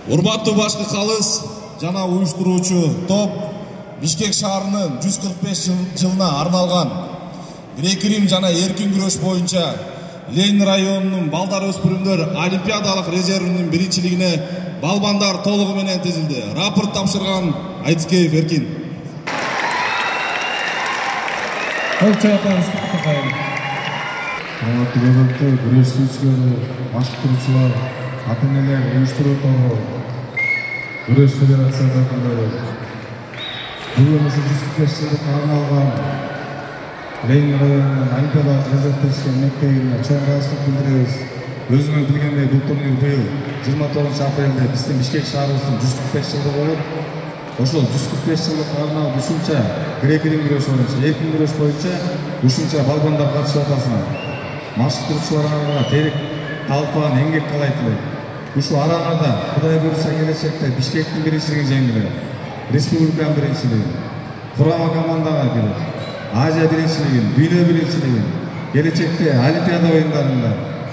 Урматтуу башкы калыс жана уюштуруучу топ Бишкек шаарынын 145 жылына арналган грек-рим жана эркин күрөш боюнча Ленин районунун балдар өспүрүмдөр олимпиадалык резервинин биринчилигине балбандар толугу менен тизилди. Рапорт тапшырган Айтскеев Эркин. Күрөшчүлөр, башкаруучулар, ата-энелер, уюштуруу тобу, күрөш федерациялары бүгүн 145 жылга арналган Ленин районунун олимпиадалык резервтешкен мектебине чоң ыраазычылык билдиребиз. Өзүңөр билгендей, бул турнир быйыл 29 апрелде биздин Бишкек шаарыбыздын 145 жылдыгы болуп, ошол 145 жылдык арналып ушунча грек-рим күрөш боюнча, эркин күрөш боюнча ушунча балбандар катышып атасыңар. Машыктыруучуларга терек талпаган эмгек каалайт элек. Ушу араңарда Кудай буйрса келечекте Бишкектин биринчилигин жеңгиле, республиканын биринчилигин, курама командага кирип, Азия биринчилигин, дүйнө биринчилигин, келечекте Олимпиада оюндарында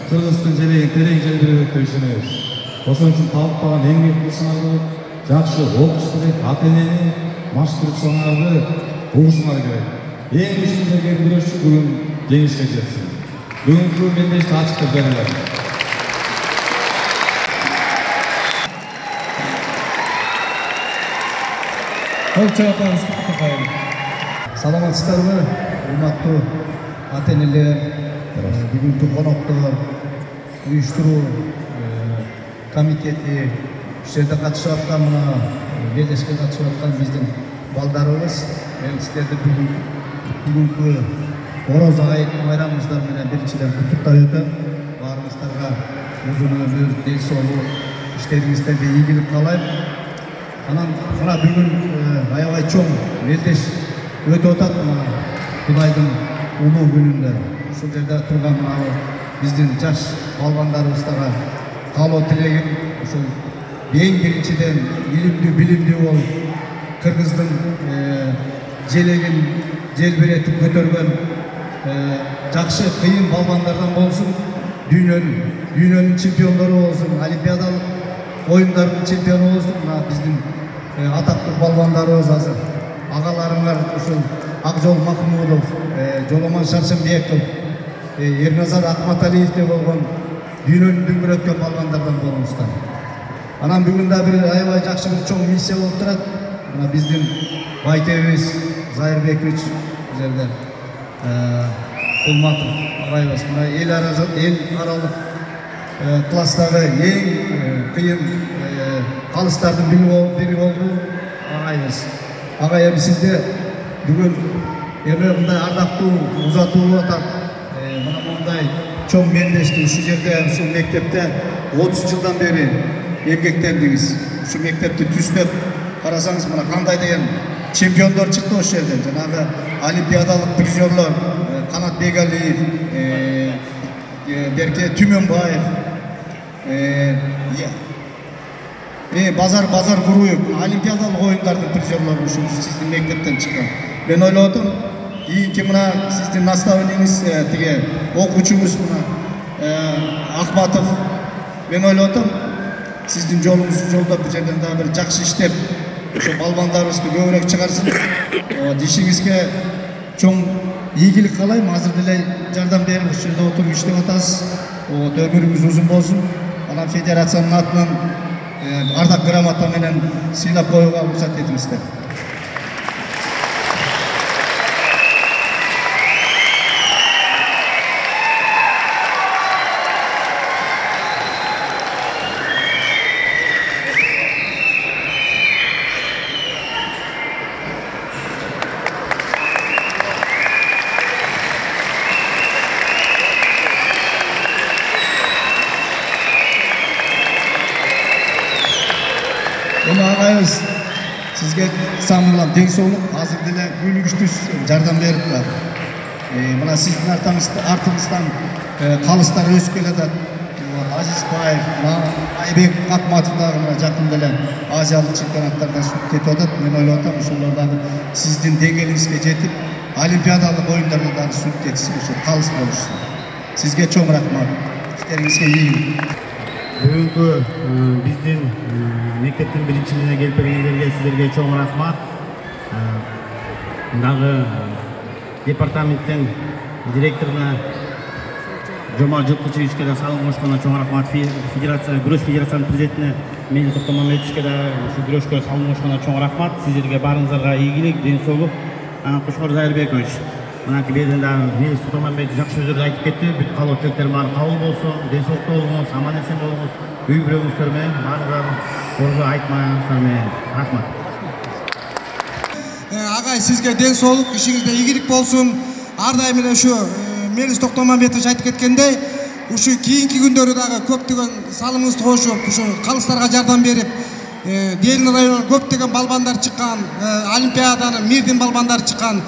Кыргыздын желегин терең желбиреп өткөрүшүнөбүз. Ошон үчүн талпаган эмгек кылышыңарды, жакшы окуш керек, ата-энени, машыктыруучуларды угушуңар керек. Эң күчтүү күрөшчү бүгүн жеңишке жетсин. Бүгүнкү мендешти ачык жарыялар. Саламатсыздарбы, урматтуу ата-энелер, бүгүнкү коноктор, уюштуруу комитети, ушул жерде катышып аткан мына белдешке катышып аткан биздин балдарыбыз, мен сиздерди бүгүнкү Ороз байрамыңыздар менен биринчиден куттуктап өтөм. Баарыңыздарга узун өмүр, ден соолук, иштериңиздерге ийгилик каалайм. Анан мына бүгүн аябай чоң мелдеш өтүп атат мына Кудайдын улуу күнүндө. Ушул жерде турган мына биздин жаш балбандарыбыздарга каалоо тилегим ушул эң биринчиден илимдүү, билимдүү болуп, Кыргыздын желегин желбиретип көтөргөн жакшы кыйын балбандардан болсун, дүйнөнүн чемпиондору болсун, олимпиадалык оюндардын чемпиону болсун. Мына биздин атактуу балбандарыбыз азыр агаларыңар ушул Акжол Махмудов, Жоломон Шаршембеков, Эрназар Акматалиевдей болгон дүйнөнү дүңгүрөткөн балбандардан болуңуздар. Анан бүгүн да бир аябай жакшы бир чоң миссия болуп турат. Мына биздин Байтебиз Зайырбекович жерде Кулматов агайыбыз мына эл аралык класстагы эң кыйын калыстардын бири болду агайыбыз. Агай эми сизде бүгүн эме мындай ардактуу узатуу болуп атат. Мына мындай чоң мендешти ушул жерде, ушул мектепте 30 жылдан бери эмгектендиңиз. Ушул мектепти түздөп карасаңыз, мына кандай деген чемпиондор чыкты ошол жерден. Жанагы олимпиадалык призерлор Канат Бегалиев, Берке Түмөнбаев, Базар Куруев, олимпиадалык оюндардын призерлору ушул сиздин мектептен чыккан. Мен ойлоп атам, кийинки мына сиздин наставниңиз тиге окуучуңуз мына Ахматов. Мен ойлоп атам, сиздин жолуңузду жолдоп бул жерден дагы бир жакшы иштеп, ошо балбандарыбызды көбүрөөк чыгарсын. Дишиңизге чоң ийгилик каалайм. Азыр деле жардам берип ушул жерде отуруп иштеп атасыз. Өмүрүңүз узун болсун. Анан федерациянын атынан ардак грамота менен сыйлап коюуга уруксат этиңиздер. Агайыбыз сизге самырлап ден соолук, азыр деле күнүгүчтүз жардам берип атат. Мына сиздин артыңыздан калыстар өсүп келатат. Азизбаев, Айбек Акматов дагы мына жакын деле азиялык чемпионаттардан кетип атат. Мен ойлоп атам, ошолор дагы сиздин деңгээлиңизге жетип, олимпиадалык оюндарда дагы сүрүп кетсин, ошо калыс болушсун. Сизге чоң рахмат. Иштериңизге ийгилик. Бүгүнкү биздин мектептин биринчи жылына келип келгениңерге сиздерге чоң рахмат. Дагы департаменттин директоруна Жомарт Жылкычевичке да салым кошконуна чоң рахмат. Федерация күрөш федерациянын президентине Мелис Токтомамбетовичке да ушу күрөшкө салым кошконуна чоң рахмат. Сиздерге баарыңыздарга ийгилик, ден соолук. Кушкор Зайырбекович, мынакей берден дагы Мелис Токтомамбетов жакшы сөздөрдү айтып кетти. Бүт калуу тилектер баары кабыл болсун, ден соолукта болуңуз, аман эсен болуңуз, үй бүлөңүздөр менен баарыңыздардын орду айтмаңыздар менен рахмат. Агай, сизге ден соолук, ишиңизде ийгилик болсун. Ар дайым эле ушу Мелис Токтомамбетович айтып кеткендей, ушу кийинки күндөрү дагы көптөгөн салымыңызды кошуп, ушу калыстарга жардам берип, Делин районунан көптөгөн балбандар чыккан, олимпиаданын мирдин балбандары чыккан.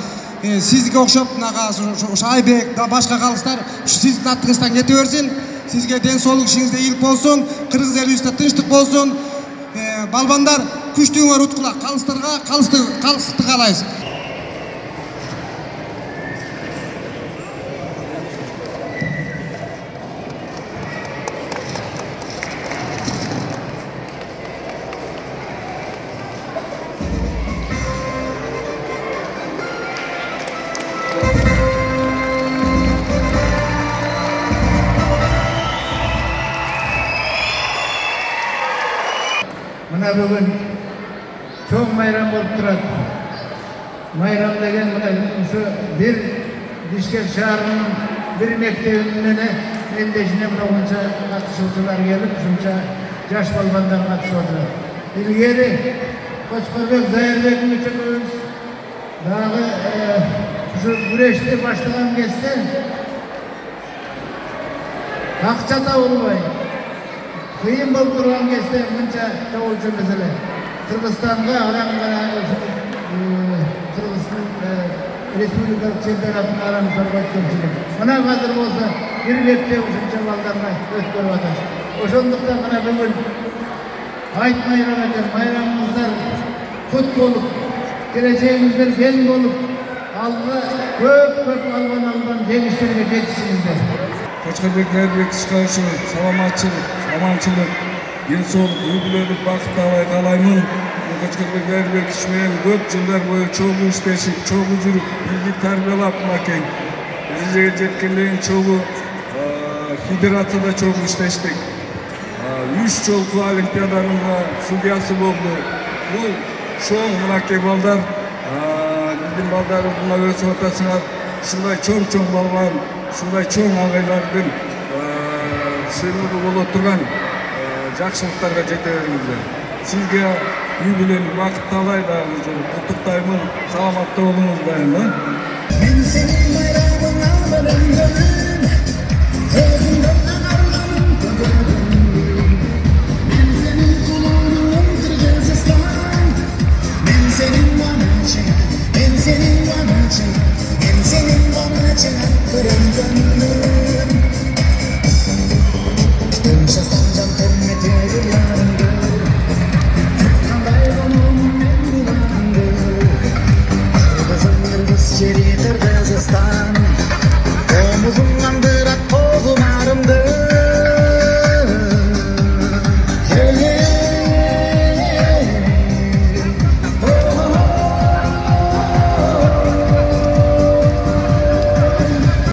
Сизге окшоп ушу Айбек да башка калыстар ушу сиздин аттыңыздан кете берсин. Сизге ден соолук, ишиңизде ийгилик болсун, кыргыз элибизде тынчтык болсун. Балбандар күчтүгүңөр уткула, калыстарга калыстыкты каалайбыз. Мына бүгүн чоң майрам болуп турат. Майрам деген ушу бир Бишкек шаарынын бир мектебинен элдешине мынанча катышуучулар келип, ушунча жаш балбандар катышып отурат. Илгери Кочкорбек Зайырбекович экөөбүз дагы ушу күрөштү баштаган кезде акча табылбай кыйын болуп турган кезде мынча чогулчу маселе. Кыргызстанга арам гана Кыргыздын республикалык чемпионатын арамызда өткөрчүлүк. Мына азыр болсо бир мектеп ушунча балдарга өткөрүп атат. Ошондуктан мына бүгүн айт майрам экен, майрамыңыздар кут болуп, келечегиңиздер кен болуп, алга көп албан жеңиштерге жетишиңиздер. Кочкорбек Зайырбековичке саламатчылык, аманчылык, ден соолук, үй бүлөлүк бакыт каалаймын. Кочкорбек Зайырбекович менен көп жылдар бою чогуу иштешип, чогуу жүрүп, бизди тарбиялап мынакей дәрежеге жеткенден чогуу федерацияда чогуу иштештик. 3 жолку олимпиаданын судьясы болду. Бул чоң мынакей балдар, биздин балдарыбызга өсүп атасыңар. Ушундай чоң балбан, ушундай чоң агайлардын сыйлыгы боло турган жакшылыктарга жете бериңиздер. Сизге үй бүлөлүк бакыт каалай дагы куттуктаймын. Саламатта болуңуз дайым.